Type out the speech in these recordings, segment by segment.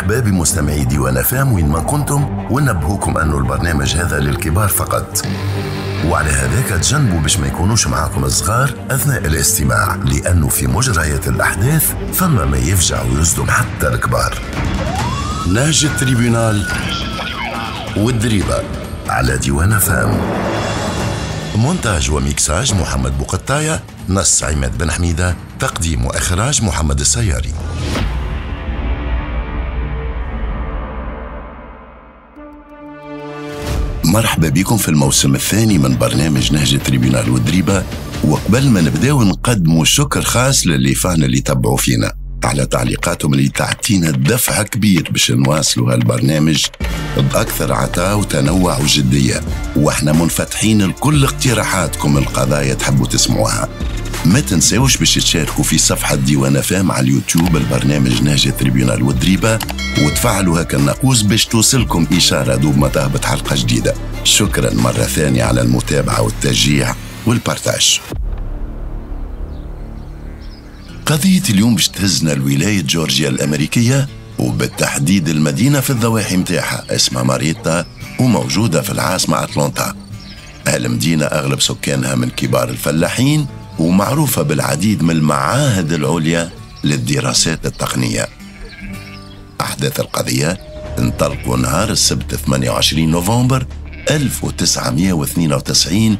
مرحبا بمستمعي ديوان أف أم وين ما كنتم، ونبهوكم أنه البرنامج هذا للكبار فقط، وعلى هذاك تجنبوا باش ما يكونوش معاكم الصغار أثناء الاستماع، لأنه في مجريات الأحداث فما ما يفجع ويصدم حتى الكبار. نهج ال tribunal والدريبة على ديوان أف أم. مونتاج وميكساج محمد بوقطاية، نص عماد بن حميدة، تقديم وإخراج محمد السياري. مرحبا بكم في الموسم الثاني من برنامج نهج ال tribunal والدريبة. وقبل ما نبداو نقدموا شكر خاص لل les fans اللي تبعوا فينا على تعليقاتهم اللي تعطينا دفعة كبير باش نواصلوا هالبرنامج بأكثر عطاء وتنوع وجدية، واحنا منفتحين لكل اقتراحاتكم القضايا تحبوا تسمعوها. ما تنساوش باش تشاركوا في صفحة ديوان أف أم على اليوتيوب البرنامج نهج ال tribunal والدريبة، وتفعلوا هكا الناقوس باش توصلكم إشارة دوب ما تهبط حلقة جديدة. شكرا مرة ثانية على المتابعة والتشجيع وال partage. قضية اليوم باش تهزنا لولاية جورجيا الأمريكية، وبالتحديد المدينة في الضواحي متاعها اسمها ماريتا، وموجودة في العاصمة أتلانتا. هالمدينة أغلب سكانها من كبار الفلاحين، ومعروفة بالعديد من المعاهد العليا للدراسات التقنية. أحداث القضية انطلقوا نهار السبت 28 نوفمبر 1992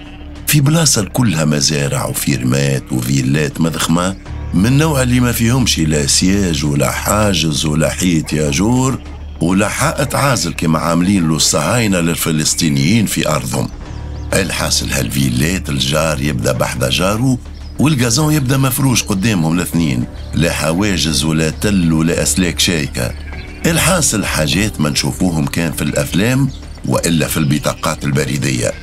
في بلاصة كلها مزارع وفيرمات وفيلات مضخمة من نوع اللي ما فيهمش لا سياج ولا حاجز ولا حيط ياجور ولا حائط عازل كما عاملين له الصهاينة للفلسطينيين في أرضهم. الحاصل هالفيلات الجار يبدأ بحذا جاره وال gazon يبدأ مفروش قدامهم الاثنين، لا حواجز ولا تل ولا أسلاك شايكة. الحاصل حاجات ما نشوفوهم كان في الأفلام وإلا في البطاقات البريدية.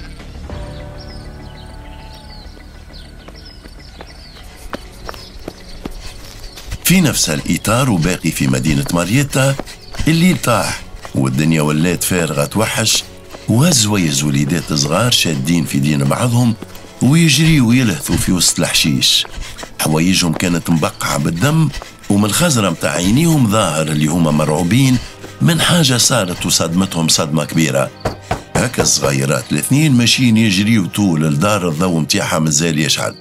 في نفس الإطار وباقي في مدينة ماريتا الليل طاح والدنيا ولات فارغة توحش، وهزويز وليدات صغار شادين في دين بعضهم ويجريوا ويلهثوا في وسط الحشيش. حوايجهم كانت مبقعة بالدم، ومن الخزرة متاع عينيهم ظاهر اللي هما مرعوبين من حاجة صارت وصدمتهم صدمة كبيرة. هكا الصغيرات الاثنين ماشيين يجريوا طول الدار، الضوء متاعها مازال يشعل،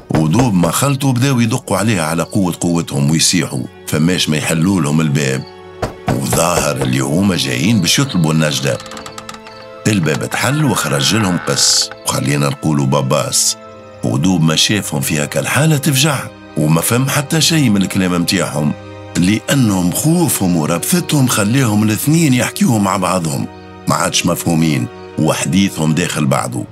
ودوب ما خلطوا بداو يدقوا عليها على قوة قوتهم ويصيحوا فماش ما يحلوا لهم الباب، وظاهر اللي هما جايين باش يطلبوا النجدة. الباب تحل وخرج لهم قس، وخلينا نقولوا باباس، ودوب ما شافهم في هكا الحالة تفجع وما فهم حتى شيء من الكلام متاعهم، لأنهم خوفهم وربثتهم خليهم الاثنين يحكيوهم مع بعضهم ما عادش مفهومين وحديثهم داخل بعضه.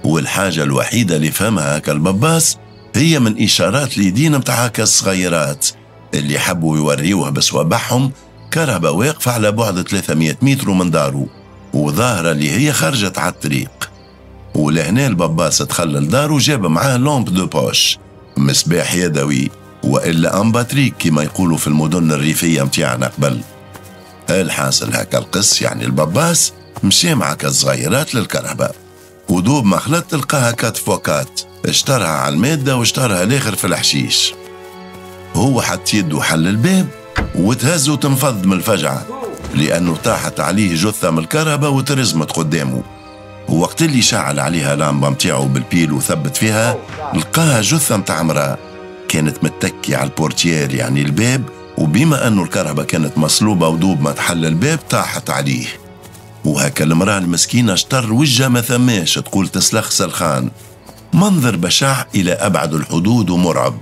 والحاجة الوحيدة اللي فهمها هكا الباباس هي من إشارات اليدين متاع هكا الصغيرات اللي حبوا يوريوها بصوابعهم كرهبة واقفة على بعد 300 متر من داره، وظاهرة اللي هي خرجت على الطريق. ولهنا الباباس دخل لداره وجاب معاه lampe de poche، مصباح يدوي وإلا en batterie كما يقولوا في المدن الريفية متاعنا قبل. الحاصل هكا القس يعني الباباس مشي مع الصغيرات للكرهبة، ودوب ما خلط تلقاها quatre fois quatre، اشترها على المادة واشترها الآخر في الحشيش. هو حط يده حل الباب وتهز وتنفض من الفجعة لأنه طاحت عليه جثة من الكرهبة وترزمت قدامه. ووقت اللي شعل عليها لامبة متاعه بال pile وثبت فيها لقاها جثة متاع امرأة كانت متكية على ال portière يعني الباب، وبما أنه الكرهبة كانت مصلوبة ودوب ما تحل الباب طاحت عليه. وهكا المرأة المسكينة اشتر وجهها ما ثماش، تقول تسلخ سلخان، منظر بشع إلى أبعد الحدود ومرعب.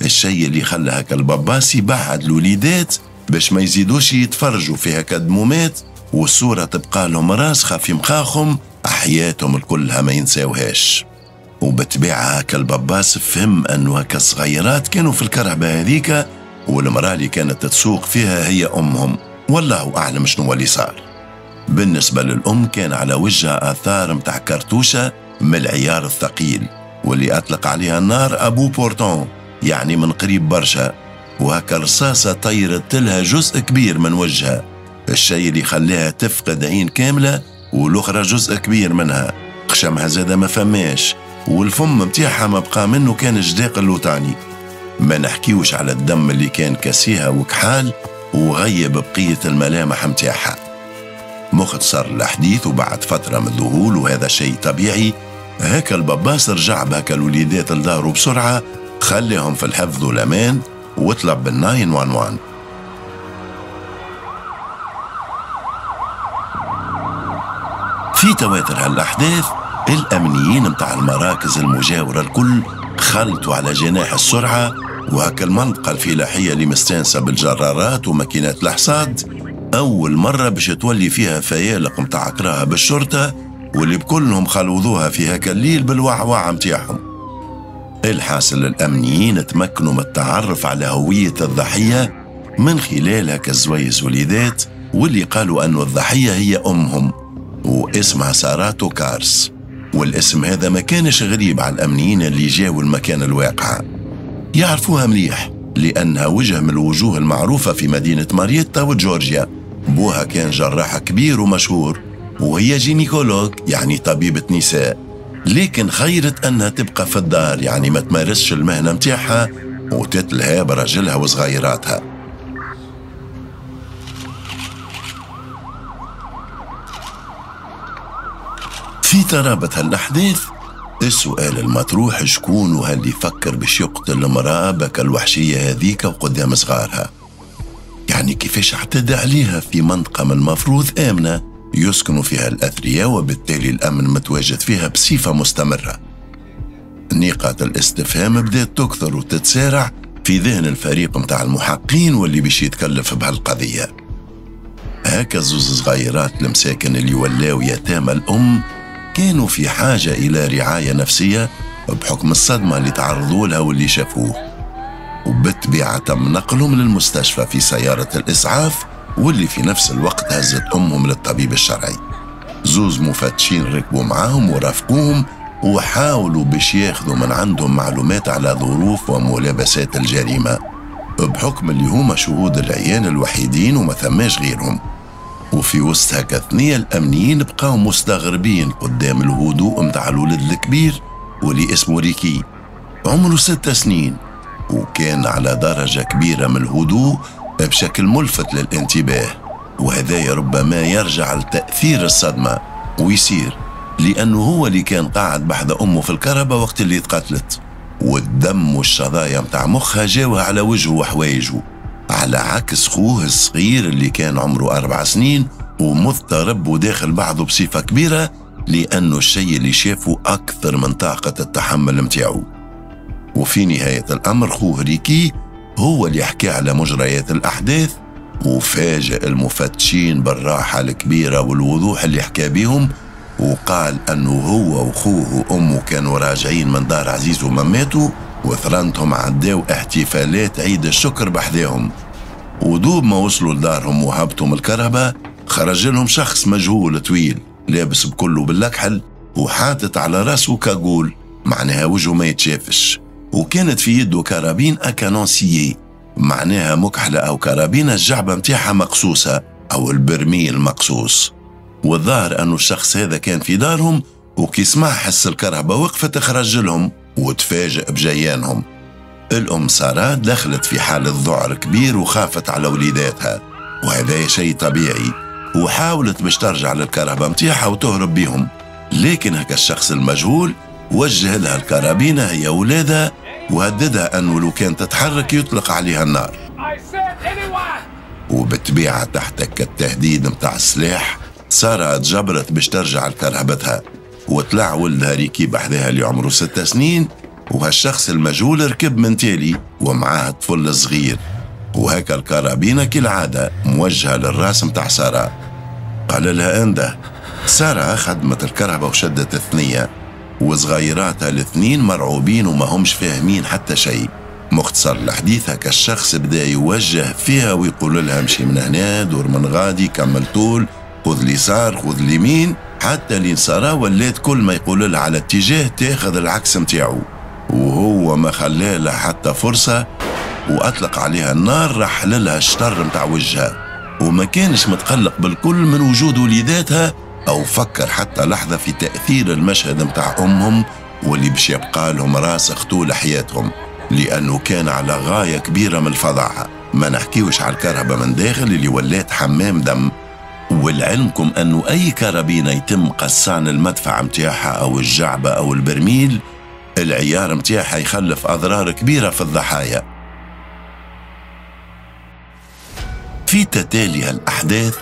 الشيء اللي خلى هكا الباباس يبعد الوليدات باش ما يزيدوش يتفرجوا في هكا دمومات، والصورة تبقى لهم راسخة في مخاخهم حياتهم الكلها ما ينساوهاش. وبتباع هكا الباباس فهم أنه هكا الصغيرات كانوا في الكرهبة هذيك والمرأة اللي كانت تسوق فيها هي أمهم، والله أعلم شنو اللي صار. بالنسبة للأم كان على وجهها آثار متاع كرتوشة من العيار الثقيل واللي أطلق عليها النار à bout portant يعني من قريب برشا، وهكا الرصاصة طيرت لها جزء كبير من وجهها، الشيء اللي خلاها تفقد عين كاملة والأخرى جزء كبير منها، خشمها زادة ما فماش، والفم متاعها ما بقى منه كان جداق اللوطاني. ما نحكيوش على الدم اللي كان كاسيها وكحال وغيب بقية الملامح متاعها. مختصر الحديث، وبعد فترة من الذهول وهذا شيء طبيعي، هكا الباباس رجع بهكا الوليدات لدارو بسرعة، خليهم في الحفظ والأمان وطلب بال 911. في تواتر هالأحداث الأمنيين متاع المراكز المجاورة الكل خلطوا على جناح السرعة، وهكا المنطقة الفلاحية اللي مستانسة بالجرارات وماكينات الحصاد أول مرة باش تولي فيها فيالق متاع كراهة بالشرطة، واللي بكلهم خلوضوها في هكا الليل بالوعوع متاعهم. الحاصل الأمنيين تمكنوا من التعرف على هوية الضحية من خلال هكا الزويز وليدات، واللي قالوا أنه الضحية هي أمهم واسمها ساراتو كارس. والاسم هذا ما كانش غريب على الأمنيين اللي جاوا المكان الواقعة، يعرفوها مليح لأنها وجه من الوجوه المعروفة في مدينة ماريتا وجورجيا. بوها كان جراح كبير ومشهور، وهي gynécologue يعني طبيبة نساء، لكن خيرت أنها تبقى في الدار، يعني ما تمارسش المهنة متاعها وتتلهى برجلها وصغيراتها. في ترابط هالأحداث السؤال المطروح، شكون وهل يفكر باش يقتل المرأة بك الوحشية هذيك وقدام صغارها؟ يعني كيفاش اعتدى عليها في منطقة من المفروض آمنة يسكنوا فيها الأثرياء، وبالتالي الأمن متواجد فيها بصفة مستمرة؟ نقاط الاستفهام بدأت تكثر وتتسارع في ذهن الفريق متاع المحقين واللي باش يتكلف بهالقضية. هكا زوز صغيرات المساكن اللي ولاو يتامى الأم كانوا في حاجة إلى رعاية نفسية بحكم الصدمة اللي تعرضوا لها واللي شافوه، وبالطبيعة تم نقلهم للمستشفى في سيارة الإسعاف، واللي في نفس الوقت هزت أمهم للطبيب الشرعي. زوز مفتشين ركبوا معاهم ورافقوهم وحاولوا باش ياخذوا من عندهم معلومات على ظروف وملابسات الجريمة، بحكم اللي هما شهود العيان الوحيدين وما ثماش غيرهم. وفي وسط هكا ثنية الأمنيين بقاو مستغربين قدام الهدوء متاع الولد الكبير واللي اسمه ريكي، عمره 6 سنين، وكان على درجة كبيرة من الهدوء بشكل ملفت للانتباه، وهذا ربما يرجع لتأثير الصدمة ويصير لأنه هو اللي كان قاعد بحذا أمه في الكهرباء وقت اللي تقتلت، والدم والشظايا متاع مخها جاوها على وجهه وحوايجه، على عكس خوه الصغير اللي كان عمره 4 سنين ومضطرب وداخل بعضه بصفة كبيرة، لأنه الشيء اللي شافه أكثر من طاقة التحمل متاعه. وفي نهاية الأمر خوه ريكي هو اللي حكى على مجريات الأحداث، وفاجئ المفتشين بالراحة الكبيرة والوضوح اللي حكى بهم، وقال أنه هو وخوه وأمه كانوا راجعين من دار عزيز ومماته، وثرنتهم عداو احتفالات عيد الشكر بحذاهم، ودوب ما وصلوا لدارهم وهبطوا من الكهرباء خرج لهم شخص مجهول طويل لابس بكله باللكحل وحاطط على راسه cagoule، معناها وجهه ما يتشافش، وكانت في يده carabine à canon scié، معناها مكحلة أو كرابين الجعبة متاعها مقصوصة أو البرميل مقصوص. والظاهر أنه الشخص هذا كان في دارهم، وكي سمع حس الكهرباء وقفت خرج لهم وتفاجئ بجيانهم. الأم سارة دخلت في حالة ذعر كبير وخافت على وليداتها، وهذا شيء طبيعي، وحاولت باش ترجع للكهرباء متاعها وتهرب بيهم، لكن هكا الشخص المجهول وجه لها الكرابينة هي ولادها وهددها أنه لو كان تتحرك يطلق عليها النار. وبالطبيعة تحت التهديد متاع السلاح سارة تجبرت باش ترجع لكرهبتها، وطلع ولدها ريكي بحذاها اللي عمره 6 سنين، وهالشخص المجهول ركب من تالي ومعاه طفل صغير، وهكا الكرابينة كالعادة موجهة للراس متاع سارة. قال لها انده. سارة خدمت الكرهبة وشدت الثنية، وصغيراتها الاثنين مرعوبين وما همش فاهمين حتى شيء. مختصر الحديث هكا الشخص بدا يوجه فيها ويقول لها امشي من هنا، دور من غادي، كمل طول، خذ اليسار، خذ اليمين، حتى لين سارة ولات كل ما يقول لها على اتجاه تاخذ العكس متاعو، وهو ما خلاه لها حتى فرصة وأطلق عليها النار، رحل لها الشطر متاع وجهها، وما كانش متقلق بالكل من وجود وليداتها أو فكر حتى لحظة في تأثير المشهد متاع أمهم واللي باش يبقى لهم راسخ طول حياتهم، لأنه كان على غاية كبيرة من الفظاعة. ما نحكيوش على الكرهبة من داخل اللي ولات حمام دم. ولعلمكم أنه أي كرابينة يتم قصان المدفع متاعها أو الجعبة أو البرميل، العيار متاعها يخلف أضرار كبيرة في الضحايا. في تتالي الأحداث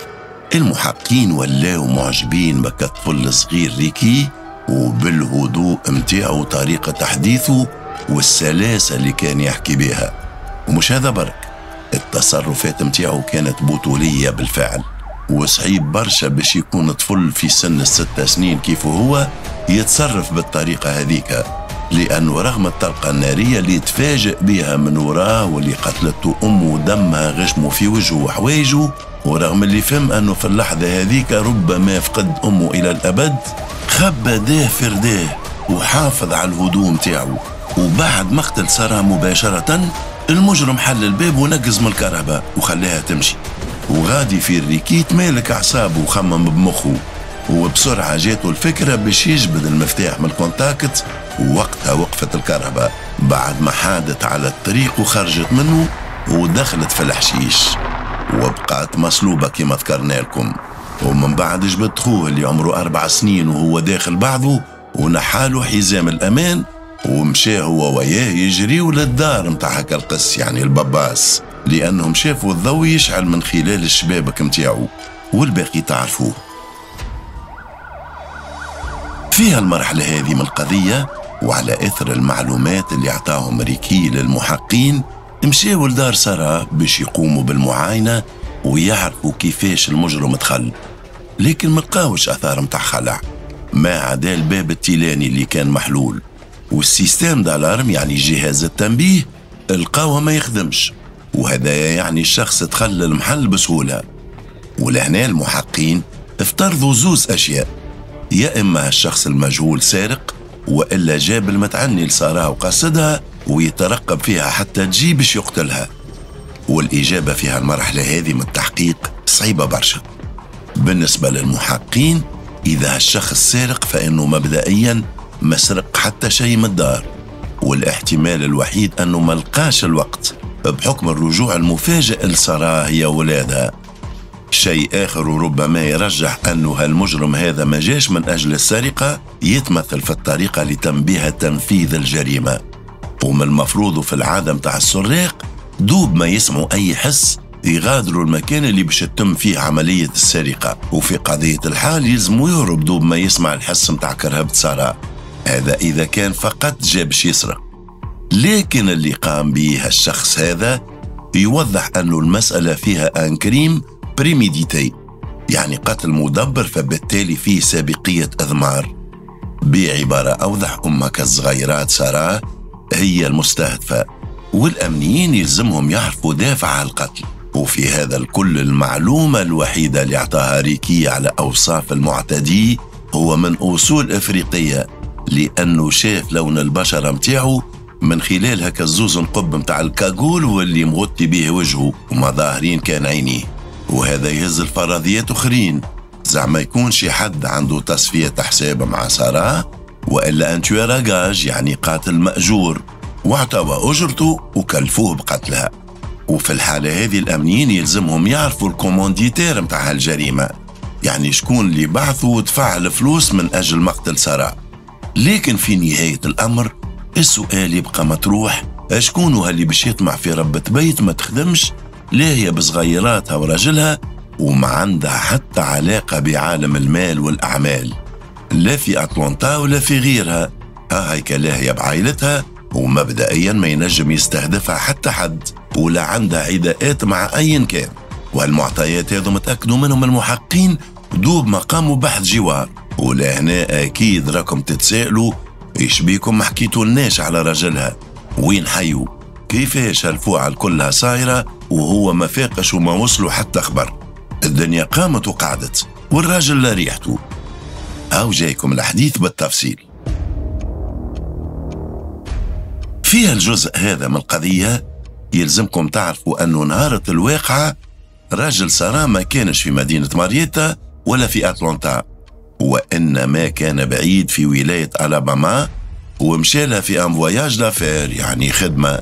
المحقين ولاو معجبين بك الطفل الصغير ريكي، وبالهدوء متاعه وطريقة تحديثه والسلاسة اللي كان يحكي بها. ومش هذا برك، التصرفات متاعه كانت بطولية بالفعل، وصعيب برشا باش يكون طفل في سن 6 سنين كيف هو يتصرف بالطريقة هذيك، لأنه رغم الطلقة النارية اللي تفاجئ بها من وراه واللي قتلته أمه ودمها غشمه في وجهه وحوايجه، ورغم اللي فهم أنه في اللحظة هذيك ربما فقد أمه إلى الأبد، خبى داه فرداه وحافظ على الهدوء متاعه. وبعد مقتل سارة مباشرة المجرم حل الباب ونقز من الكرهبة وخلاها تمشي. وغادي في الريكيت مالك أعصابه وخمم بمخه، وبسرعة جاته الفكرة باش يجبد المفتاح من ال contact، ووقتها وقفت الكرهبة بعد ما حادت على الطريق وخرجت منه ودخلت في الحشيش وبقات مصلوبة كما ذكرنا لكم. ومن بعد جبد خوه اللي عمره 4 سنين وهو داخل بعضه ونحاله حزام الأمان، ومشى هو وياه يجريوا للدار متاع هكا القس يعني الباباس، لأنهم شافوا الضوء يشعل من خلال الشبابك متاعو، والباقي تعرفوه. فيها المرحلة هذه من القضية وعلى إثر المعلومات اللي عطاهم ريكي للمحقين، مشاو لدار سارة باش يقوموا بالمعاينة ويعرفوا كيفاش المجرم دخل، لكن ما لقاوش أثار متاع خلع، ما عدا الباب التيلاني اللي كان محلول، وال système d'alarme يعني جهاز التنبيه لقاوه ما يخدمش، وهذا يعني الشخص دخل المحل بسهولة. ولهنا المحقين افترضوا زوز أشياء، يا إما الشخص المجهول سارق، وإلا جاب المتعني لسارة وقصدها ويترقب فيها حتى تجي باش يقتلها. والإجابة في هالمرحلة هذه من التحقيق صعيبة برشا. بالنسبة للمحقين إذا الشخص سارق فإنه مبدئيا ما سرق حتى شيء من الدار، والاحتمال الوحيد أنه ما لقاش الوقت بحكم الرجوع المفاجئ لسارة هي ولادها. شيء آخر وربما يرجح أنه هالمجرم هذا ما جاش من أجل السرقة يتمثل في الطريقة اللي تم بها تنفيذ الجريمة. ومن المفروض في العادة متاع السراق دوب ما يسمعوا أي حس يغادروا المكان اللي باش تتم فيه عملية السرقة، وفي قضية الحال يلزموا يهرب دوب ما يسمع الحس متاع كرهبة سارة، هذا إذا كان فقط جا باش يسرق. لكن اللي قام به الشخص هذا يوضح أنه المسألة فيها un crime prémédité، يعني قتل مدبر، فبالتالي فيه سابقية إضمار. بعبارة أوضح، أمك الصغيرات سارة هي المستهدفة، والأمنيين يلزمهم يعرفوا دافع القتل. وفي هذا الكل المعلومة الوحيدة اللي أعطاها ريكي على أوصاف المعتدي هو من أصول إفريقية، لأنه شاف لون البشرة متاعه من خلال هكا الزوز نقب متاع ال cagoule واللي مغطي به وجهه وما ظاهرين كان عينيه. وهذا يهز الفرضيات أخرين، زعما يكون شي حد عنده تصفية حساب مع سارة، وإلا un tueur à gages يعني قاتل مأجور واعطوا أجرته وكلفوه بقتلها. وفي الحالة هذه الأمنيين يلزمهم يعرفوا ال commanditaire متاع هالجريمة، يعني شكون اللي بعثوا ودفع الفلوس من أجل مقتل سارة. لكن في نهاية الأمر السؤال يبقى مطروح، شكون هاللي باش يطمع في ربة بيت ما تخدمش، لا هي بصغيراتها وراجلها، وما عندها حتى علاقة بعالم المال والأعمال، لا في أتلانتا ولا في غيرها، ها هيك لاهية بعائلتها، ومبدئيا ما ينجم يستهدفها حتى حد، ولا عندها عداءات مع أي كان. والمعطيات هذو متأكدوا منهم المحقين دوب ما قاموا بحث جوار. ولهنا أكيد راكم تتسائلوا إيش بيكم ما حكيتولناش على رجلها، وين حيو، كيفاش هالفوعة كلها صايرة وهو ما فاقش وما وصلوا حتى خبر. الدنيا قامت وقعدت والراجل لا ريحته. هاو جايكم الحديث بالتفصيل. في الجزء هذا من القضية يلزمكم تعرفوا أنه نهارة الواقعة راجل سارة ما كانش في مدينة ماريتا ولا في أتلانتا، وإنما كان بعيد في ولاية ألاباما، ومشالها في un voyage d'affaires يعني خدمة.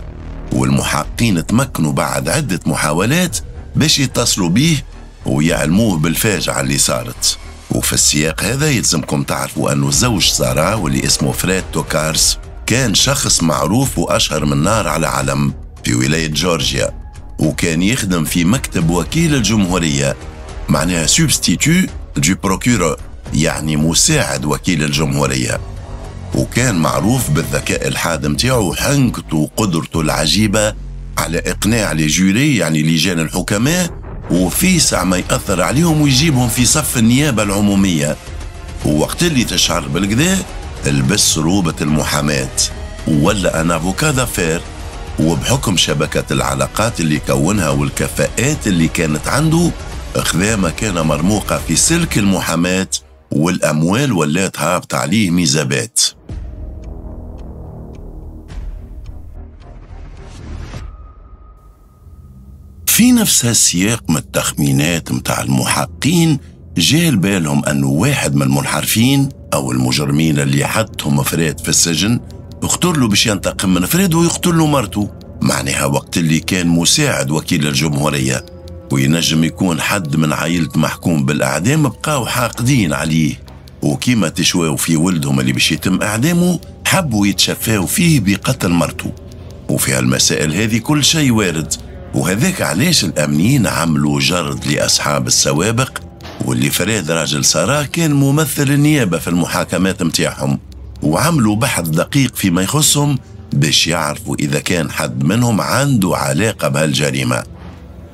والمحققين تمكنوا بعد عدة محاولات باش يتصلوا بيه ويعلموه بالفاجعة اللي صارت. وفي السياق هذا يلزمكم تعرفوا أنه زوج سارة واللي اسمه فريد توكارس كان شخص معروف وأشهر من نار على علم في ولاية جورجيا، وكان يخدم في مكتب وكيل الجمهورية، معناها substitut du procureur، يعني مساعد وكيل الجمهورية. وكان معروف بالذكاء الحاد متاعه وحنكته وقدرته العجيبة على إقناع les jurys، يعني لجان الحكماء، وفي ساعة ما يأثر عليهم ويجيبهم في صف النيابة العمومية. ووقت اللي تشعر بالكذا لبس روبة المحاماة ولا un avocat d'affaires، وبحكم شبكة العلاقات اللي كونها والكفاءات اللي كانت عنده خذا مكانة مرموقة في سلك المحاماة، والأموال ولات هابط عليه ميزابات. في نفس هالسياق من التخمينات متاع المحقين جاء بالهم أنه واحد من المنحرفين أو المجرمين اللي حطهم فريد في السجن اختار له باش ينتقم من فريد ويقتل له مرته، معناها وقت اللي كان مساعد وكيل الجمهورية، وينجم يكون حد من عائلة محكوم بالأعدام بقاو حاقدين عليه، وكيما تشواو في ولدهم اللي باش يتم إعدامه حبوا يتشفاو فيه بقتل مرته. وفي هالمسائل هذه كل شيء وارد، وهذاك علاش الأمنيين عملوا جرد لأصحاب السوابق، واللي فريد راجل سارة كان ممثل النيابة في المحاكمات متاعهم، وعملوا بحث دقيق فيما يخصهم باش يعرفوا إذا كان حد منهم عنده علاقة بهالجريمة.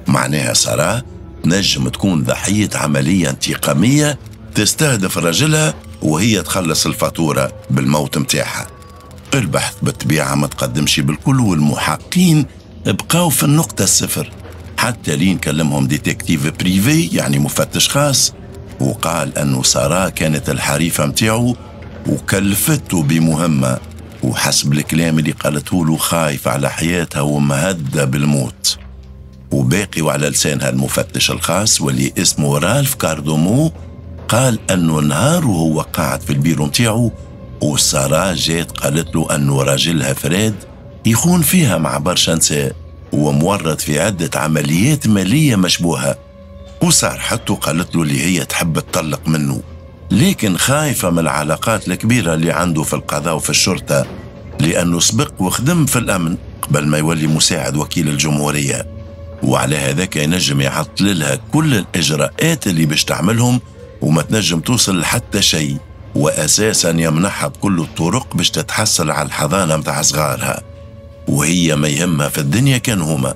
معناها سارة تنجم تكون ضحية عملية انتقامية تستهدف رجلها وهي تخلص الفاتورة بالموت متاعها. البحث بالطبيعة ما تقدمش بالكل، والمحقين بقاو في النقطة الصفر حتى لين كلمهم détective privé، يعني مفتش خاص، وقال أنه سارة كانت الحريفة متاعه وكلفته بمهمة، وحسب الكلام اللي قالته له خايف على حياتها ومهدة بالموت. وباقي وعلى لسانها المفتش الخاص واللي اسمه رالف كاردومو قال أنه نهار وهو قاعد في البيرو متاعه وسارة جات قالت له أنه راجلها فريد يخون فيها مع برشا نساء ومورط في عدة عمليات مالية مشبوهة، وصارحته قالت له اللي هي تحب تطلق منه، لكن خايفة من العلاقات الكبيرة اللي عنده في القضاء وفي الشرطة، لأنه سبق وخدم في الأمن قبل ما يولي مساعد وكيل الجمهورية، وعلى هذاك ينجم يعطل لها كل الإجراءات اللي باش تعملهم وما تنجم توصل لحتى شيء، وأساسا يمنحها بكل الطرق باش تتحصل على الحضانة متاع صغارها، وهي ما يهمها في الدنيا كان هما.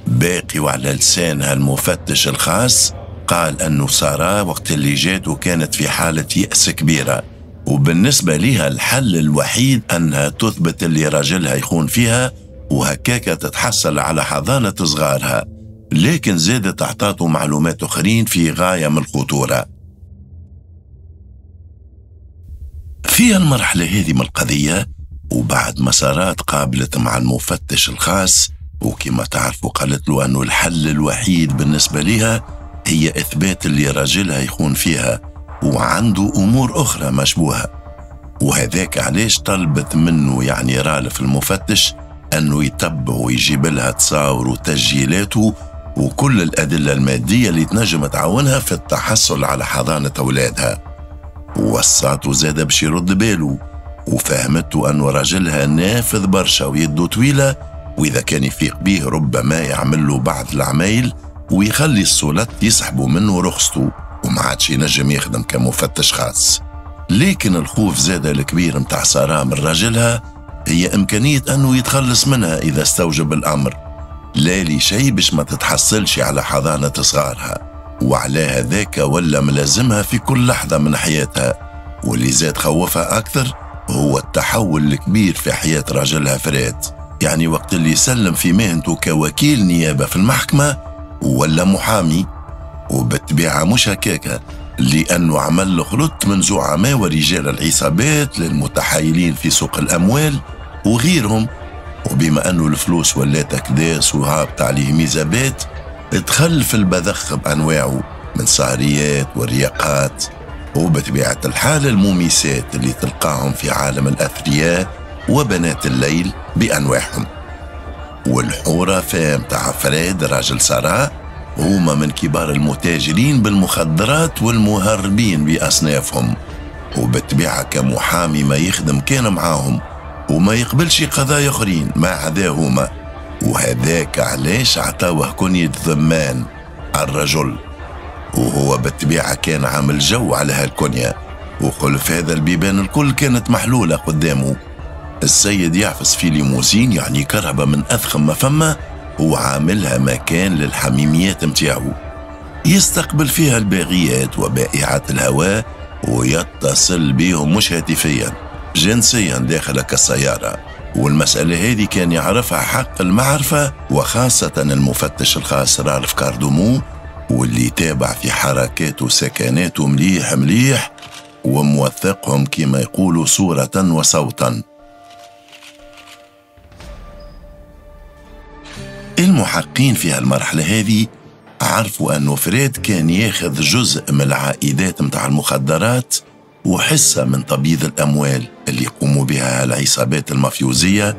باقي وعلى لسانها المفتش الخاص قال أنه سارة وقت اللي جاته كانت في حالة يأس كبيرة، وبالنسبة لها الحل الوحيد أنها تثبت اللي راجلها يخون فيها وهكاكا تتحصل على حضانة صغارها، لكن زادت أعطاته معلومات أخرين في غاية من الخطورة. في المرحلة هذه من القضية وبعد ما سارة تقابلت مع المفتش الخاص وكما تعرفوا قالت له أنه الحل الوحيد بالنسبة لها هي إثبات اللي راجلها يخون فيها وعنده أمور أخرى مشبوهة، وهذاك علاش طلبت منه يعني رالف المفتش أنه يتبع ويجيب لها تصاور وتسجيلاته وكل الأدلة المادية اللي تنجم تعاونها في التحصل على حضانة أولادها. ووصاته زاد باش يرد باله، وفهمته أنه راجلها نافذ برشا ويده طويلة، وإذا كان يفيق به ربما يعمل له بعض العمايل ويخلي السلطات يسحبوا منه رخصته وما عادش ينجم يخدم كمفتش خاص. لكن الخوف زاد الكبير متاع سارة من راجلها هي إمكانية أنه يتخلص منها إذا استوجب الأمر، لا لشيء باش ما تتحصلش على حضانة صغارها، وعلى هذاك ولا ملازمها في كل لحظة من حياتها. واللي زاد خوفها أكثر هو التحول الكبير في حياة راجلها فريد، يعني وقت اللي سلم في مهنته كوكيل نيابة في المحكمة ولا محامي، وبالطبيعة مش هكاكا، لأنه عمل خلط من زعماء ورجال العصابات للمتحايلين في سوق الأموال وغيرهم. وبما أنه الفلوس ولات أكداس وهابط عليه ميزابات، دخل في البذخ بأنواعه من سهريات ورياقات، وبطبيعة الحال المميسات اللي تلقاهم في عالم الأثرياء وبنات الليل بأنواعهم. والحرفاء متاع فريد راجل سارة هما من كبار المتاجرين بالمخدرات والمهربين بأصنافهم، وبالطبيعة كمحامي ما يخدم كان معاهم وما يقبلش قضايا أخرين ما عداهما، وهذاك علاش عطاوه كنية ضمان الرجل، وهو بالطبيعة كان عامل جو على هالكنية، وخلف هذا البيبان الكل كانت محلولة قدامه. السيد يعفس في ليموزين، يعني كرهبة من أضخم ما فما، وعاملها مكان للحميميات متاعه، يستقبل فيها الباغيات وبائعات الهواء ويتصل بيهم مش هاتفيا، جنسيا داخل السيارة. والمسألة هذه كان يعرفها حق المعرفة، وخاصة المفتش الخاص رالف كاردومو، واللي تابع في حركاته وسكناته مليح مليح وموثقهم كما يقولوا صورة وصوتا. المحقين في هالمرحلة هذه عرفوا أنه فريد كان ياخذ جزء من العائدات متاع المخدرات وحصة من تبييض الأموال اللي يقوموا بها العصابات المافيوزية،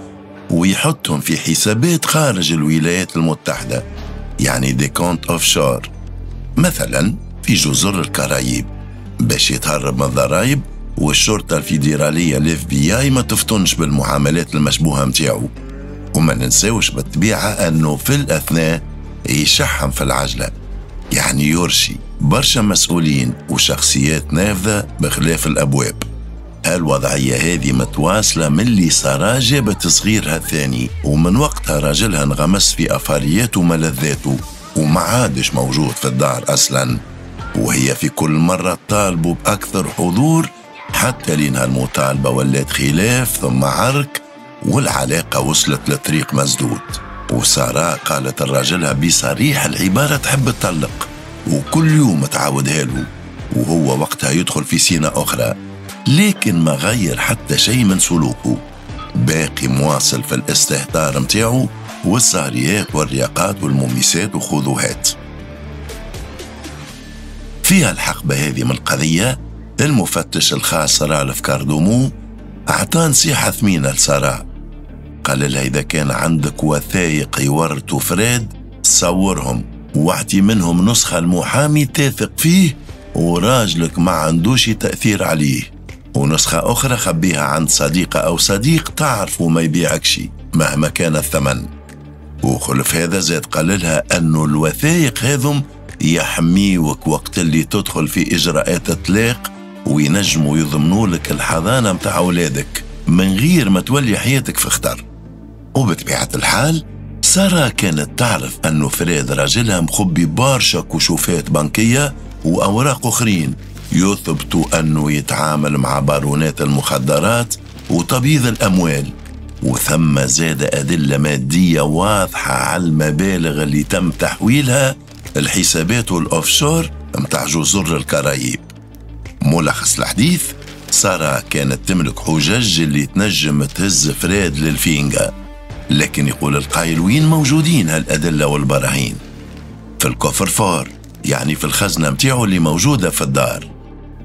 ويحطهم في حسابات خارج الولايات المتحدة، يعني des comptes offshore، مثلا في جزر الكرايب، باش يتهرب من الضرائب والشرطة الفيدرالية ال FBI ما تفطنش بالمعاملات المشبوهة متاعو. وما ننساوش بالطبيعة أنه في الأثناء يشحم في العجلة، يعني يرشي برشا مسؤولين وشخصيات نافذة بخلاف الأبواب. هالوضعية هذه متواصلة من اللي سارة جابت صغيرها الثاني، ومن وقتها راجلها انغمس في أفارياته وملذاته وما عادش موجود في الدار أصلا، وهي في كل مرة طالبوا بأكثر حضور حتى لينها المطالبة ولات خلاف ثم عرك، والعلاقة وصلت لطريق مسدود. وسارة قالت لراجلها بصريح العبارة تحب تطلق، وكل يوم تعاودها له، وهو وقتها يدخل في سينة أخرى، لكن ما غير حتى شيء من سلوكه، باقي مواصل في الاستهتار متاعه والسهريات والرياقات والمميسات وخذوهات. فيها الحقبة هذه من القضية المفتش الخاص رالف كاردومو أعطى نصيحة ثمينة لسارة، قال لها إذا كان عندك وثائق يورطوا فريد صورهم واعطي منهم نسخة المحامي تثق فيه وراجلك ما عندوش تأثير عليه، ونسخة أخرى خبيها عند صديقة أو صديق تعرفه ما يبيعكش مهما كان الثمن. وخلف هذا زاد قال لها أنه الوثائق هذم يحميوك وقت اللي تدخل في إجراءات الطلاق وينجموا يضمنوا لك الحضانة متاع أولادك من غير ما تولي حياتك في خطر. وبطبيعة الحال سارة كانت تعرف أنه فريد راجلها مخبي برشا كشوفات بنكية وأوراق أخرين يثبتوا أنه يتعامل مع بارونات المخدرات وتبييض الأموال، وثم زاد أدلة مادية واضحة على المبالغ اللي تم تحويلها الحسابات وال offshore متاع جزر الكرايب. ملخص الحديث، سارة كانت تملك حجج اللي تنجم تهز فريد للفينجا، لكن يقول القائل وين موجودين هالأدلة والبراهين؟ في ال coffre-fort، يعني في الخزنة متاعه اللي موجودة في الدار.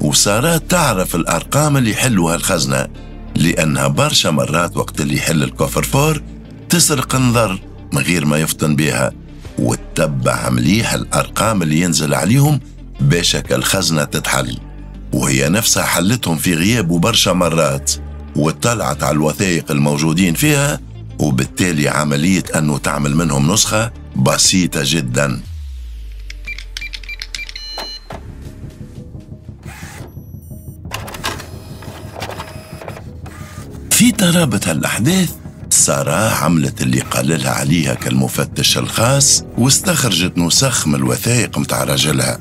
وسارة تعرف الأرقام اللي يحلوا هالخزنة، لأنها برشا مرات وقت اللي يحل ال coffre-fort تسرق نظر من غير ما يفطن بها، وتتبع مليح الأرقام اللي ينزل عليهم باش الخزنة تتحل، وهي نفسها حلتهم في غيابه برشا مرات وطلعت على الوثائق الموجودين فيها، وبالتالي عملية أنه تعمل منهم نسخة بسيطة جدا. في ترابط هالأحداث سارة عملت اللي قال لها عليها كالمفتش الخاص، واستخرجت نسخ من الوثائق متاع رجلها،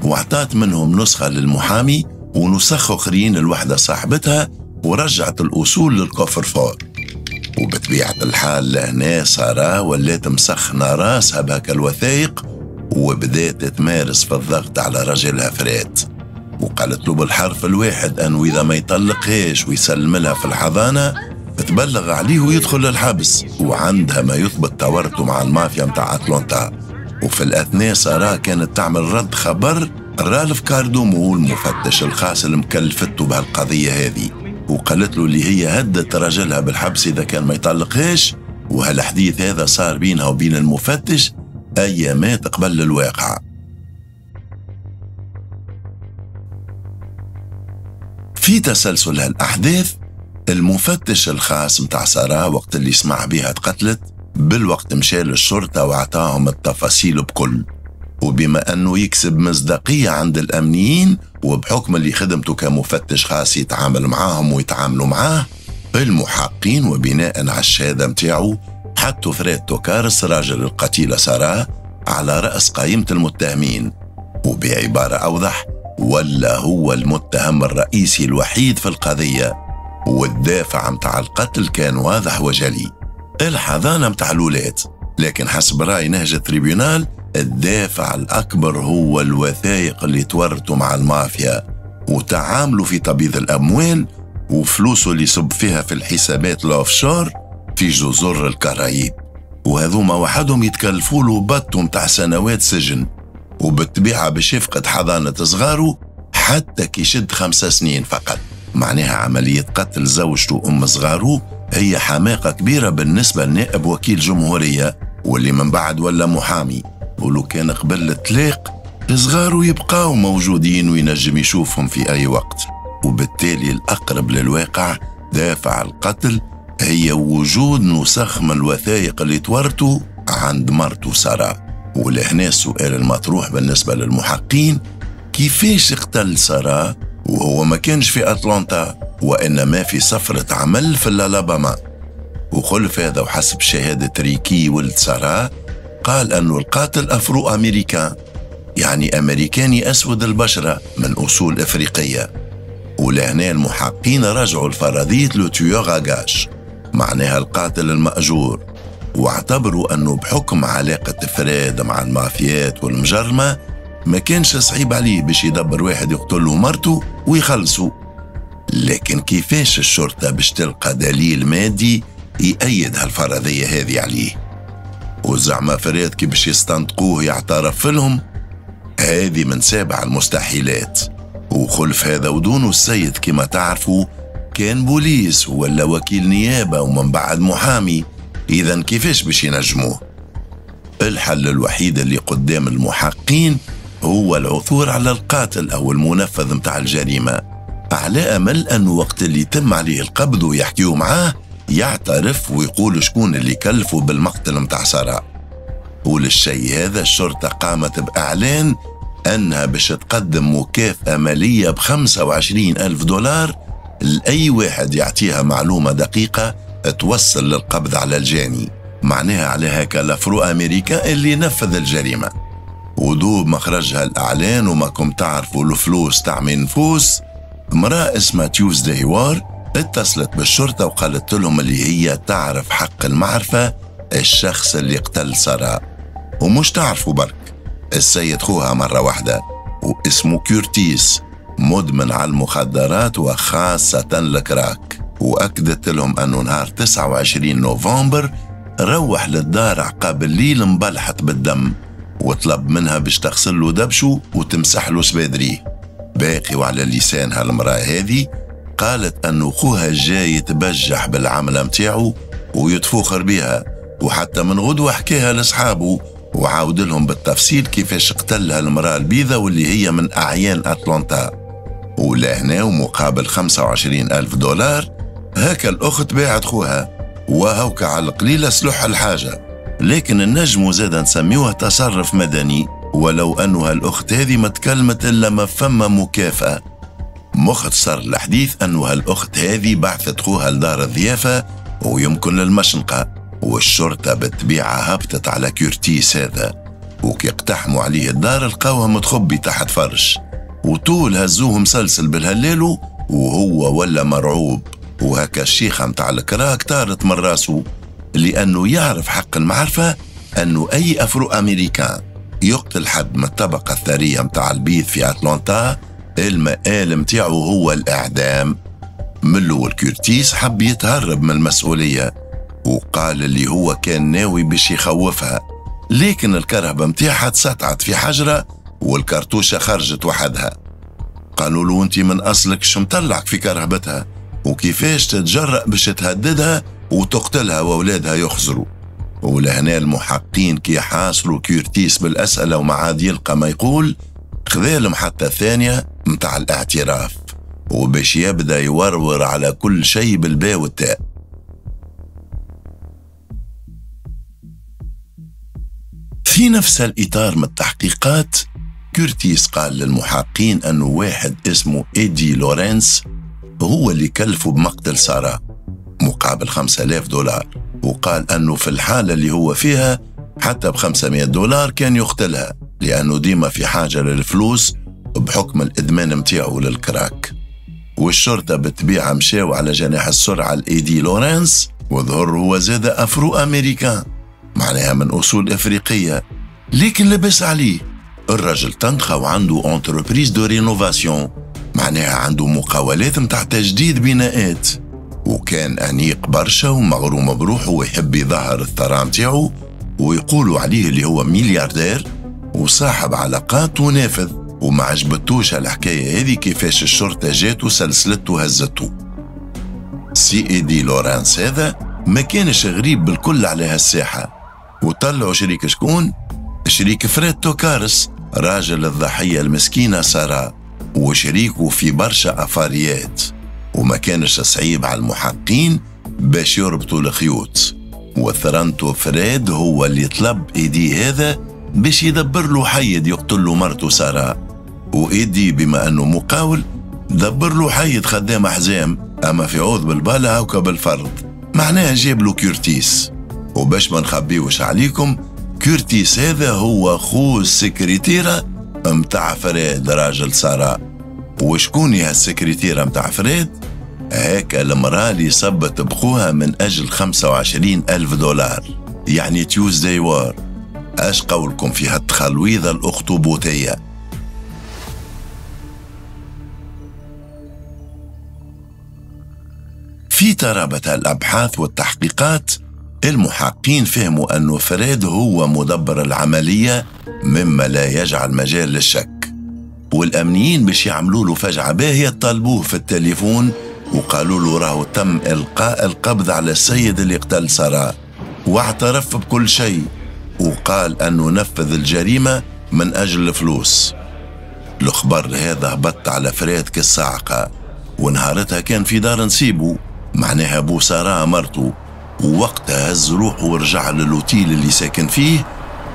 واعطت منهم نسخة للمحامي ونسخ أخرين لوحدة صاحبتها، ورجعت الأصول للكوفر فور. وبطبيعة الحال لهنا سارة ولات مسخنة راسها بهك الوثائق، وبدات تمارس في الضغط على رجلها فريد، وقالت له بالحرف الواحد أنه إذا ما يطلقهاش ويسلم لها في الحضانة تبلغ عليه ويدخل للحبس، وعندها ما يثبت تورطه مع المافيا متاع أتلانتا. وفي الأثناء سارة كانت تعمل رد خبر رالف كاردومو المفتش الخاص اللي مكلفته بهالقضية هذه، وقالت له اللي هي هدت رجلها بالحبس إذا كان ما يطلقهاش، وهالحديث هذا صار بينها وبين المفتش أيامات قبل الواقعة. في تسلسل هالأحداث، المفتش الخاص متاع سارة وقت اللي سمع بها تقتلت بالوقت مشى للشرطة وعطاهم التفاصيل بكل، وبما أنه يكسب مصداقية عند الأمنيين وبحكم اللي خدمته كمفتش خاص يتعامل معاهم ويتعاملوا معاه المحقين، وبناء على الشهادة متاعه حطوا فريد توكارس راجل القتيلة سارة على رأس قائمة المتهمين، وبعبارة أوضح ولا هو المتهم الرئيسي الوحيد في القضية، والدافع متاع القتل كان واضح وجلي، الحضانة متاع الولاد. لكن حسب رأي نهج ال tribunal الدافع الأكبر هو الوثائق اللي تورطوا مع المافيا وتعاملوا في تبييض الأموال وفلوسه اللي صب فيها في الحسابات ال offshore في جزر الكرايب، وهذوما وحدهم يتكلفوا له بطو متاع سنوات سجن، وبالطبيعة باش يفقد حضانة صغاره حتى كي يشد 5 سنين فقط. معناها عملية قتل زوجته وأم صغاره هي حماقة كبيرة بالنسبة لنائب وكيل جمهورية واللي من بعد ولا محامي، ولو كان قبل الطلاق صغاره يبقاو موجودين وينجم يشوفهم في أي وقت. وبالتالي الأقرب للواقع دافع القتل هي وجود نسخ من الوثائق اللي تورطوا عند مرته سارة. ولهنا السؤال المطروح بالنسبة للمحقين، كيفاش اقتل سارة وهو ما كانش في أتلانتا وإنما في سفرة عمل في الألاباما؟ وخلف هذا وحسب شهادة ريكي ولد سارة قال أنه القاتل Afro American، يعني أمريكاني أسود البشرة من أصول إفريقية. ولهنا المحقين رجعوا لفرضية le tueur à gages، معناها القاتل المأجور، واعتبروا أنه بحكم علاقة فريد مع المافيات والمجرمة ما كانش صعيب عليه باش يدبر واحد يقتله مرته ويخلصه. لكن كيفاش الشرطة باش تلقى دليل مادي يأيد هالفرضية هذه عليه؟ وزعما فريد كي باش يستنطقوه يعترف لهم؟ هذه من سابع المستحيلات. وخلف هذا ودونه السيد كما تعرفوا كان بوليس ولا وكيل نيابة ومن بعد محامي، إذا كيفاش باش ينجموه؟ الحل الوحيد اللي قدام المحقين هو العثور على القاتل أو المنفذ متاع الجريمة، على أمل أنه وقت اللي يتم عليه القبض ويحكيوا معاه يعترف ويقول شكون اللي كلفه بالمقتل متاع سارة. وللشيء هذا الشرطة قامت بإعلان أنها باش تقدم مكافأة مالية ب25,000 دولار لأي واحد يعطيها معلومة دقيقة توصل للقبض على الجاني، معناها على هكا ال Afro American اللي نفذ الجريمة. ودوب ما خرجها الإعلان وما كم تعرفوا الفلوس تعمي نفوس، امرأة اسمها تيوزداي وار اتصلت بالشرطة وقالت لهم اللي هي تعرف حق المعرفة الشخص اللي قتل سارة، ومش تعرفوا برك، السيد خوها مرة واحدة واسمه كورتيس، مدمن على المخدرات وخاصة ال crack. وأكدت لهم أنه نهار 29 نوفمبر روح للدار عقاب الليل مبلحط بالدم، وطلب منها باش تغسل له دبشه وتمسح له سبادريه. باقي وعلى لسانها المرأة هذه قالت أنه خوها جاي يتبجح بالعملة متاعه ويتفوخر بها، وحتى من غدوة حكاها لأصحابه وعاود لهم بالتفصيل كيفاش قتلها المرأة البيضة واللي هي من أعيان أتلانتا. ولهنا ومقابل 25,000 دولار هكا الأخت باعت خوها، وهوك على القليلة سلح الحاجة. لكن النجم زاد نسميوه تصرف مدني، ولو أنه هالأخت هذه ما تكلمت إلا ما فما مكافأة. مختصر الحديث أنه هالأخت هذه بعثت خوها لدار الضيافة ويمكن للمشنقة، والشرطة بالطبيعة هبطت على كورتيس هذا، وكي اقتحموا عليه الدار لقاوها متخبي تحت فرش، وطول هزوه مسلسل بالهلالو وهو ولا مرعوب. وهكا الشيخة متاع ال crack طارت من راسه، لأنه يعرف حق المعرفة أنه أي Afro American يقتل حد من الطبقة الثرية متاع البيض في أتلانتا المآل متاعه هو الإعدام. من الأول كورتيس حب يتهرب من المسؤولية وقال اللي هو كان ناوي باش يخوفها، لكن الكرهبة متاعها تسطعت في حجرة والكرتوشة خرجت وحدها. قالوا له انت من أصلك شو مطلعك في كرهبتها وكيفاش تتجرأ باش تهددها وتقتلها وأولادها يخزروا. ولهنا المحقين كي حاصروا كيرتيس بالأسئلة وما عاد يلقى ما يقول، خذا المحطة الثانية متاع الاعتراف وباش يبدأ يورور على كل شيء بالباء والتاء. في نفس الإطار من التحقيقات، كورتيس قال للمحقين أنه واحد اسمه إيدي لورنس هو اللي كلفه بمقتل سارة مقابل $5000، وقال أنه في الحالة اللي هو فيها حتى ب$500 كان يقتلها، لأنه ديما في حاجة للفلوس بحكم الإدمان متاعه للكراك. والشرطة بالطبيعة مشاو على جناح السرعة الإيدي لورنس، وظهر هو زاد Afro American، معناها من أصول إفريقية، لكن لبس عليه. الرجل تنخى وعنده entreprise de rénovation، معناها عنده مقاولات متاع تجديد بناءات، وكان أنيق برشا ومغروم بروحه ويحب يظهر الثراء متاعه، ويقولوا عليه اللي هو ملياردير وصاحب علاقات ونافذ. وما عجبتوش الحكاية هذه كيفاش الشرطة جات وسلسلته وهزته. سي إيدي لورانس هذا ما كانش غريب بالكل على هالساحة، وطلعوا شريك شكون؟ شريك فريد توكارس، راجل الضحية المسكينة سارة، وشريكه في برشا أفاريات، وما كانش صعيب على المحقين باش يربطوا الخيوط. وثرنتو فريد هو اللي طلب إيدي هذا باش يدبر له حيد يقتل له مرته سارة، وإيدي بما أنه مقاول دبر له حيد خدام حزام، أما في عوض بالبالة هاكا بالفرض، معناها جاب له كورتيس. وباش ما نخبيوش عليكم، كورتيس هذا هو خو السكرتيرة متاع فريد راجل سارة. وشكون هي السكرتيرة متاع فريد؟ هاكا المرأة اللي صبت بخوها من أجل $25,000، يعني تيوزداي وار. اش قولكم في هالتخلويضة الأخطبوطية؟ في ترابط الأبحاث والتحقيقات، المحقين فهموا أنه فريد هو مدبر العملية، مما لا يجعل مجال للشك. والأمنيين باش يعملوا له فجعة باهية طالبوه في التليفون وقالوا له راهو تم إلقاء القبض على السيد اللي قتل سارة، واعترف بكل شيء وقال أنه نفذ الجريمة من أجل الفلوس. الخبر هذا هبط على فريد كالصاعقة، ونهارتها كان في دار نسيبه، معناها أبو سارة مرته، ووقتها هز روحه ورجع للوتيل اللي ساكن فيه،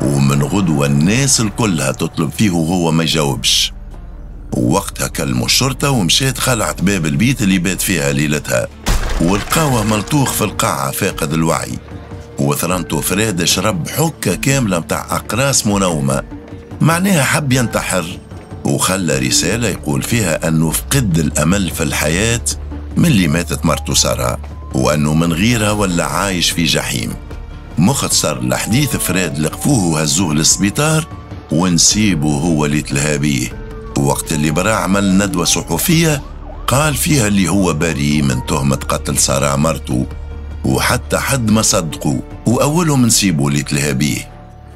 ومن غدوة الناس الكلها تطلب فيه وهو ما يجاوبش. ووقتها كلموا الشرطة ومشيت خلعت باب البيت اللي بات فيها ليلتها، ولقاوه ملطوخ في القاعة فاقد الوعي. وثرنتو فريد شرب حكة كاملة متاع أقراص منومة، معناها حب ينتحر، وخلى رسالة يقول فيها أنه فقد الأمل في الحياة من اللي ماتت مرته سارة، وأنه من غيرها ولا عايش في جحيم. مختصر الحديث، فريد لقفوه وهزوه للسبيطار ونسيبه هو اللي تلهى بيه. وقت اللي برا عمل ندوة صحفية قال فيها اللي هو بريء من تهمة قتل سارة مرته، وحتى حد ما صدقه، وأولهم نسيبه اللي تلهى بيه.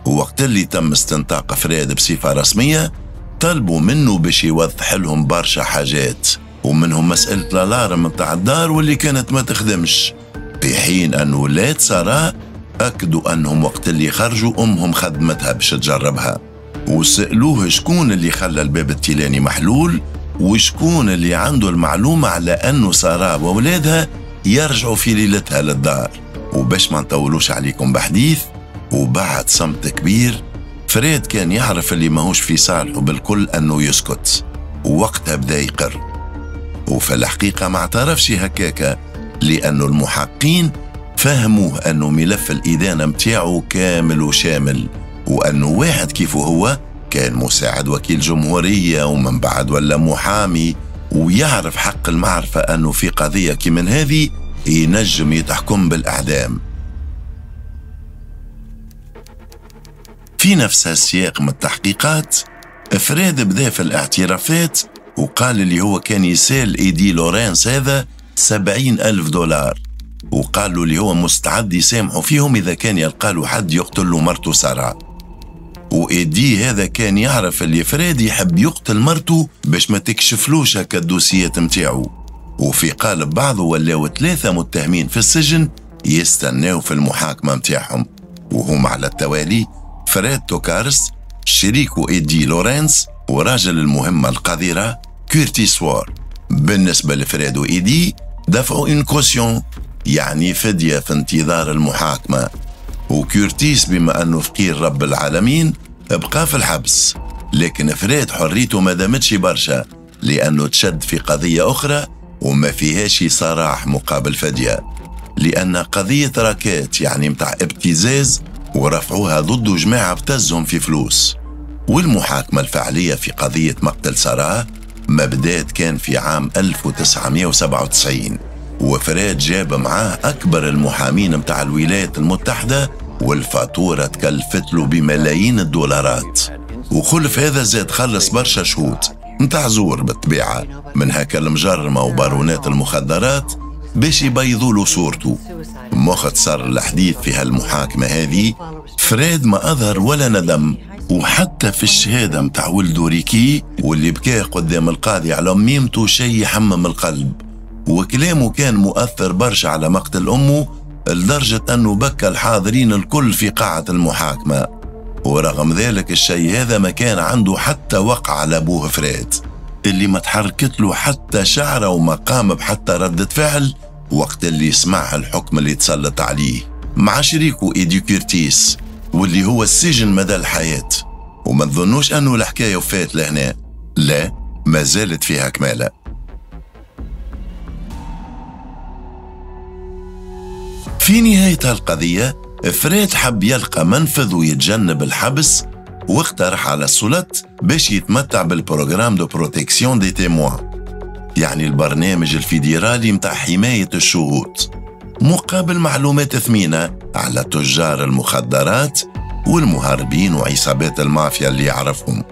ووقت اللي تم استنطاق فريد بصفة رسمية، طلبوا منه باش يوضح لهم برشا حاجات، ومنهم مسألة الألارم متاع الدار واللي كانت ما تخدمش، في حين أن ولاد سارة أكدوا أنهم وقت اللي خرجوا أمهم خدمتها باش تجربها. وسألوه شكون اللي خلى الباب التيلاني محلول، وشكون اللي عنده المعلومة على أنه سارة وولادها يرجعوا في ليلتها للدار. وباش ما نطولوش عليكم بحديث، وبعد صمت كبير، فريد كان يعرف اللي ماهوش في صالحه بالكل أنه يسكت، ووقتها بدا يقر. وفي الحقيقة ما اعترفش هكاكا، لأنه المحقين فهموه أنه ملف الإدانة متاعه كامل وشامل، وأنه واحد كيفه هو كان مساعد وكيل جمهورية ومن بعد ولا محامي، ويعرف حق المعرفة أنه في قضية كمن هذه ينجم يتحكم بالأعدام. في نفس السياق من التحقيقات، فريد بدا في الاعترافات وقال اللي هو كان يسال إيدي لورانس هذا $70,000، وقال له اللي هو مستعد يسامحه فيهم إذا كان يلقى له حد يقتل له مرته سارة. وإيدي هذا كان يعرف اللي فريد يحب يقتل مرته باش ما تكشفلوش هكا الدوسيات متاعو. وفي قالب بعضه ولاو 3 متهمين في السجن يستناو في المحاكمة متاعهم، وهم على التوالي فريد توكارس، شريكه إيدي لورنس، وراجل المهمة القذرة كيرتيس وار. بالنسبة لفريد وإيدي دفعوا une caution، يعني فدية في انتظار المحاكمة، وكيرتيس بما أنه فقير رب العالمين بقى في الحبس. لكن فريد حريته ما دامتش برشا، لأنه تشد في قضية أخرى وما فيهاش سراح مقابل فدية، لأن قضية racket يعني متاع ابتزاز ورفعوها ضده جماعة ابتزهم في فلوس. والمحاكمة الفعلية في قضية مقتل سارة ما بدات كان في عام 1997، وفريد جاب معاه أكبر المحامين متاع الولايات المتحدة، والفاتورة تكلفت له بملايين الدولارات. وخلف هذا زاد خلص برشا شهود متاع زور بالطبيعة من هكا المجرمة وبارونات المخدرات باش يبيضوا له صورته. مختصر الحديث في هالمحاكمة هذه، فريد ما أظهر ولا ندم، وحتى في الشهادة متاع ولده ريكي واللي بكاه قدام القاضي على ميمته شيء يحمم القلب، وكلامه كان مؤثر برشا على مقتل أمه لدرجة أنه بكى الحاضرين الكل في قاعة المحاكمة. ورغم ذلك الشيء هذا ما كان عنده حتى وقع على أبوه فريد اللي ما تحركت له حتى شعره وما قام بحتى ردة فعل وقت اللي سمع الحكم اللي تسلط عليه مع شريكه إيدي كيرتيس واللي هو السجن مدى الحياة. وما تظنوش أنه الحكاية وفات لهنا، لا، ما زالت فيها كمالة. في نهاية القضية فريد حب يلقى منفذ ويتجنب الحبس، واقترح على السلطات باش يتمتع بال programme de protection des témoins، يعني البرنامج الفيدرالي متاع حماية الشهود، مقابل معلومات ثمينة على تجار المخدرات والمهربين وعصابات المافيا اللي يعرفهم.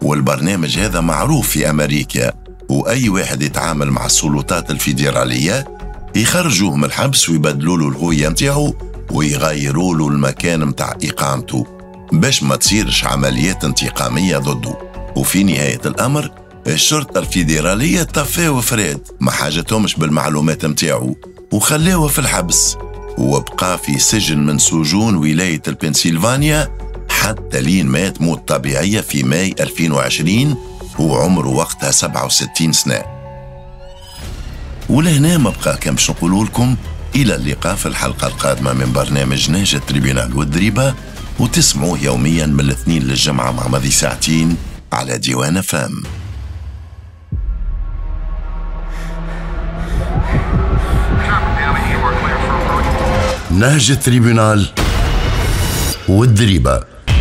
والبرنامج هذا معروف في أمريكا، وأي واحد يتعامل مع السلطات الفيدرالية يخرجوه من الحبس ويبدلوا له الهوية متاعه ويغيروا له المكان متاع إقامته باش ما تصيرش عمليات انتقامية ضده. وفي نهاية الأمر الشرطة الفيدرالية طفاو فريد، ما حاجتهمش بالمعلومات متاعه وخلاوه في الحبس، وبقى في سجن من سجون ولاية البنسلفانيا حتى لين مات موت طبيعية في ماي 2020 وعمره وقتها 67 سنة. ولهنا ما بقى كان باش نقولوا لكم إلى اللقاء في الحلقة القادمة من برنامج نهج التريبيونال والدريبة، وتسمعوه يوميا من الاثنين للجمعة مع ماضي ساعتين على ديوان فام. نهج التريبيونال والدريبة،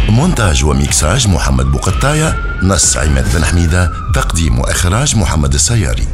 مونتاج وميكساج محمد بوقطاية، نص عماد بن حميدة، تقديم وإخراج محمد السياري.